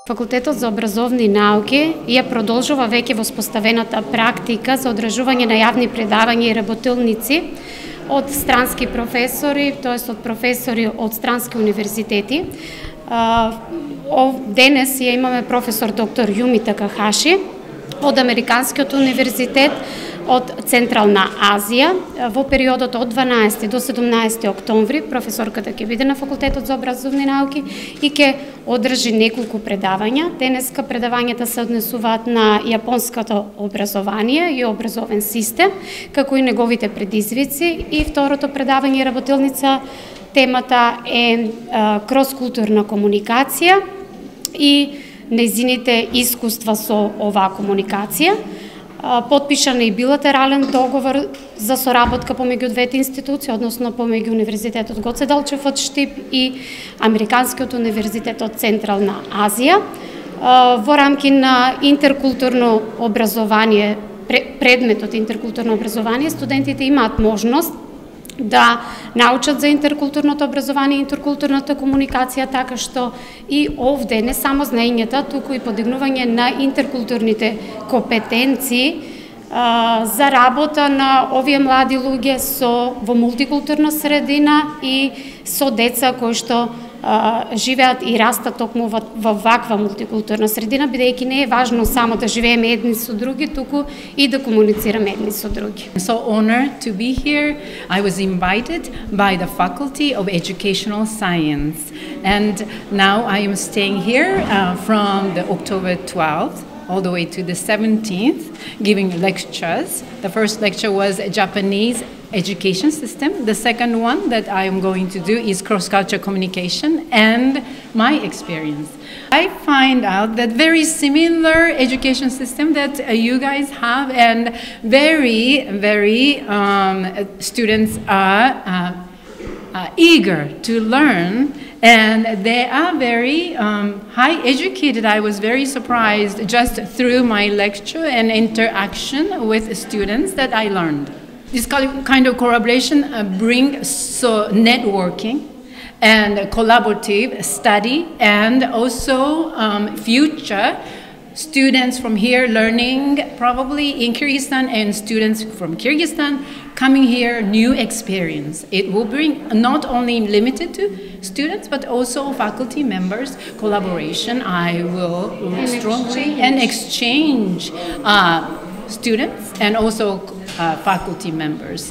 Факултетот за образовни науки ја продолжува веќе воспоставената практика за одржување на јавни предавања и работилници од странски професори, тоест од професори од странски универзитети. Денес ја имаме професор доктор Юми Такахаши од Американскиот универзитет од Централна Азија. Во периодот од 12 до 17 октомври професорката ќе биде на Факултетот за образовни науки и ќе одржи неколку предавања. Денеска предавањата се однесуваат на јапонското образование и образовен систем, како и неговите предизвици, и второто предавање работилница темата е кроскултурна комуникација и нејзините искуства со оваа комуникација. Потпишан е и билатерален договор за соработка помеѓу двете институции, односно помеѓу Универзитетот Гоце Делчев од Штип и Американскиот универзитет од Централна Азија. Во рамки на интеркултурно образование, предметот интеркултурно образование, студентите имаат можност да научат за интеркултурното образование и интеркултурната комуникација, така што и овде не само знаењата, туку и подигнување на интеркултурните компетенции за работа на овие млади луѓе во мултикултурна средина и со деца кои што живеат и растат токму во ваква мултикултурна средина, бидејќи не е важно само да живееме едни со други, туку и да комуницираме едни со други. I'm so honored to be here. I was invited by the Faculty of Educational Science, and now I am staying here from the October 12th all the way to the 17th, giving lectures. The first lecture was Japanese education system. The second one that I am going to do is cross-cultural communication and my experience. I find out that very similar education system that you guys have, and very students are eager to learn, and they are very high educated. I was very surprised just through my lecture and interaction with students that I learned. This kind of collaboration brings networking and collaborative study, and also future students from here learning probably in Kyrgyzstan, and students from Kyrgyzstan coming here, new experience. It will bring not only limited to students but also faculty members collaboration. I will strongly exchange students and also faculty members.